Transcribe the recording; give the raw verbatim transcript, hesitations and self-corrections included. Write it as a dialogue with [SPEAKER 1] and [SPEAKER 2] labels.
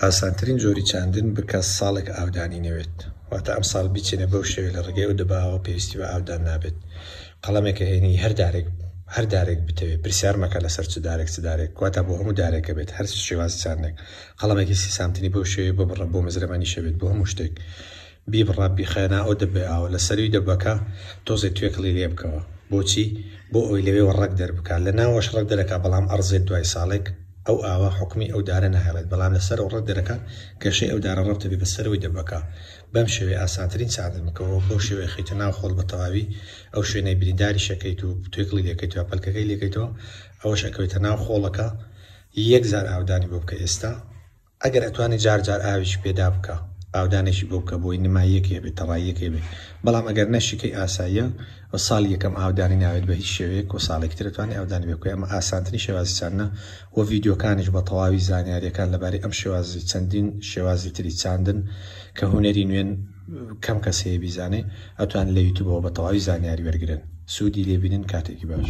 [SPEAKER 1] ئاسانترین جۆری چاندن بکە ساڵێک ئاودانی نەوێت، واتە ئەم ساڵ بیچێنە بەو شێوەیە لە ڕێگەی ئەو دەباوە پێویستی بە ئاودان نابێت. قەڵەمێکە هێنی هەر دارێک هەر دارێک بتەوێت، پرسیار مەکە لەسەر چ دارێک چ دارێک، واتە بۆ هەموو دارێکە بێت هەر شێواز چاندێک. قەڵەمێکی سی سانتیمی بەو شێوەیە ببڕە، بۆ مزرەمەنیشە بێت، بۆ هەموو شتێک بیبڕە بیخەنە ئەو دەبێ ئاوە لەسەروی دەبەکە تۆزێک توێکڵی لێ بکەوە. بۆچی؟ بۆ ئەوەی لەوێوە ڕەگ دەربکات، لە ناوەش ڕەگ دەرەکا، بەڵام ئەڕزێت دوای ساڵێک ئەو ئاوە حکومی ئەو دارە ناهێڵێت، بەڵام لەسەر ئەو ڕەگ دەرەکات گەشەی ئەو دارە ڕەبتە بێ بەسەرەوەی دەبەکە. بەم شێوەیە ئاسانترین چاندن بکەوە، بەو شێوەیە خەیتە ناو خۆڵ بە تەواوی ئەو شوێنەی برینداری شەکەیت و توێکڵی لێکەیتەوە پەلکەکەی لێکەیتەوە، ئەوەش ئەکەوێتە ناو خۆڵەکە. یەک جار ئاودانی بۆ بکە ئێستا، ئەگەر ئەتوانی جار جار ئاویش پێدا بکە، ئاودانێکی بۆ بکە بۆی نماییەکی هەبێت، تەڕاییەکی هەبێت. بەڵام ئەگەر نەشیکەی ئاساییە و ساڵی یەکەم ئاودانی ناوێت بە هیچ شێوەیەک و ساڵێکی تر ئەتوانی ئاودانی بێ بکەی. ئەمە ئاسانترین شێوازی چاندنە و ڤیدیۆکانیش بە تەواوی زانیاریەکان لەبارەی ئەم شێوازی چەندین شێوازی تری چاندن کە هونەری نوێن کەم کەس هەیە بیزانێ، ئەتوان لە یوتیوبەوە بە تەواوی زانیاری وەرگرن، سوودی لێبینن. کاتێکی باش.